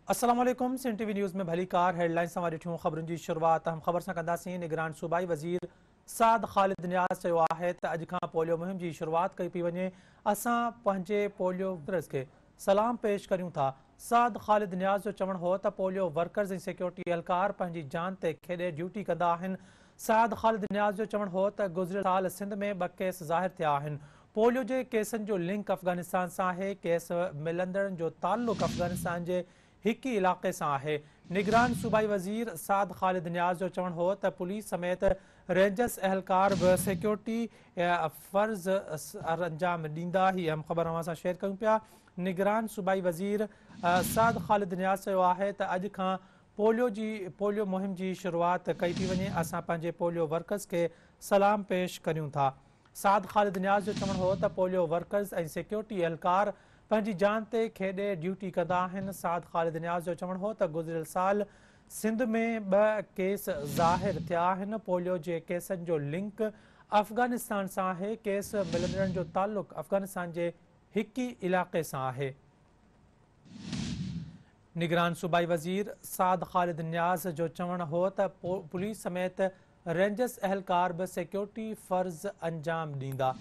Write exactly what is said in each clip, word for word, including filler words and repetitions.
अस्सलाम वालेकुम। Sindh TV news में भलीकार हेडलाइन सां ॾिठियूं ख़बरुनि जी शुरुआत अहम ख़बर सां कंदासीं। निगरान सूबाई वज़ीर साद ख़ालिद नियाज़ चयो आहे त अॼु खां पोलियो मुहिम जी शुरुआत कई पई वञे। असां पंहिंजे पोलियो वर्कर्स खे सलाम पेश करियूं था। साद ख़ालिद नियाज़ जो चवणु हो त पोलियो वर्कर्स ऐं सिक्योरिटी एहलकार पंहिंजी जान ते खेॾे ड्यूटी कंदा आहिनि। साद ख़ालिद नियाज़ जो चवणु हो त गुज़िरियल साल सिंध में ॿ केस ज़ाहिर थिया आहिनि। पोलियो जे केसनि जो लिंक अफ़गानिस्तान सां आहे। केस मिलंदड़नि जो ताल्लुक़ अफ़गानिस्तान जे हिकु ई इलाइक़े सां आहे। निगरान सूबाई वज़ीर साद ख़ालिद नियाज़ जो चवणु हो त पुलिस समेत रेंजर्स एहलकार बि सिक्योरिटी फ़र्ज़ अंजाम ॾींदा। ही अहम ख़बर अव्हां सां शेयर कयूं पिया। निगरान सूबाई वज़ीर साद ख़ालिद नियाज़ चयो आहे त अॼु खां पोलियो जी पोलियो मुहिम जी शुरुआत कई पई वञे। असां पंहिंजे पोलियो वर्कर्स खे सलाम पेश करियूं था। साद ख़ालिद नियाज़ जो चवणु हो त पोलियो वर्कर्स ऐं सिक्योरिटी एहलकार पंहिंजी जान ते खेॾे ड्यूटी कंदा आहिनि। साद ख़ालिद नियाज़ जो चवणु हो त गुज़िरियल साल सिंध में ॿ केस ज़ाहिर थिया आहिनि। पोलियो जे केसनि जो लिंक अफ़गानिस्तान सां आहे। केस मिलंदड़नि जो ताल्लुक़ अफ़गानिस्तान जे हिकु ई इलाइक़े सां आहे। निगरान सूबाई वज़ीर साद ख़ालिद नियाज़ जो चवणु हो त पुलिस समेत रेंजर्स एहलकार बि सिक्योरिटी फ़र्ज़ अंजाम ॾींदा।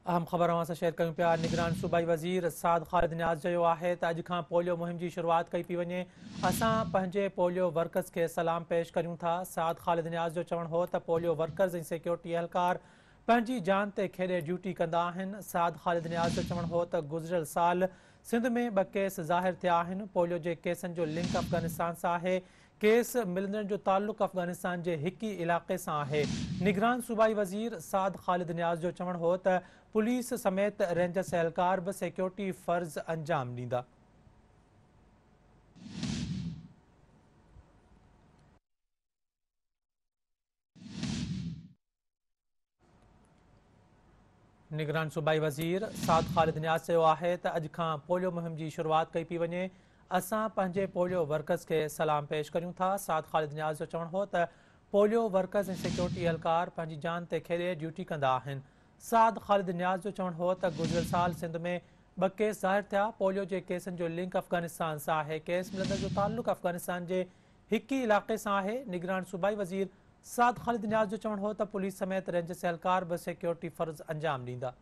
अहम ख़बर अव्हां सां शेयर कयूं पिया। निगरान सूबाई वज़ीर साद ख़ालिद नियाज़ चयो आहे त अॼु खां पोलियो मुहिम जी शुरुआत कई पई वञे। असां पंहिंजे पोलियो वर्कर्स खे सलाम पेश करियूं था। साद ख़ालिद नियाज़ जो चवणु हो त पोलियो वर्कर्स ऐं सिक्योरिटी एहलकार पंहिंजी जान ते खेॾे ड्यूटी कंदा आहिनि। साद ख़ालिद नियाज़ जो चवणु हो त गुज़िरियल साल सिंध में ॿ केस ज़ाहिर थिया आहिनि। पोलियो जे केसनि जो लिंक अफ़गानिस्तान सां आहे। केस मिलंदड़नि जो ताल्लुक़ अफ़गानिस्तान जे हिकु ई इलाइक़े सां आहे। निगरान सूबाई वज़ीर साद ख़ालिद नियाज़ जो चवणु हो त पुलिस समेत रेंजर्स एहलकार बि सिक्योरिटी फ़र्ज़ अंजाम ॾींदा। निगरान सूबाई वज़ीर साद ख़ालिद नियाज़ चयो आहे त अॼु खां पोलियो मुहिम जी शुरुआत कई पई वञे। असां पंहिंजे पोलियो वर्कर्स खे सलाम पेश करियूं था। साद ख़ालिद नियाज़ जो चवणु हो त पोलियो वर्कर्स ऐं सिक्योरिटी एहलकार पंहिंजी जान ते खेॾे ड्यूटी कंदा आहिनि। साद ख़ालिद नियाज़ जो चवणु हो त गुज़िरियल साल सिंध में ॿ केस ज़ाहिर थिया। पोलियो जे केसनि जो लिंक अफ़गानिस्तान सां आहे। केस मिलंदड़ जो ताल्लुक़ अफ़गानिस्तान जे हिकु ई इलाइक़े सां आहे। निगरान सूबाई वज़ीर साद ख़ालिद नियाज़ जो चवणु हो त पुलिस समेत रेंजर्स एहलकार बि सिक्योरिटी फ़र्ज़ अंजाम ॾींदा।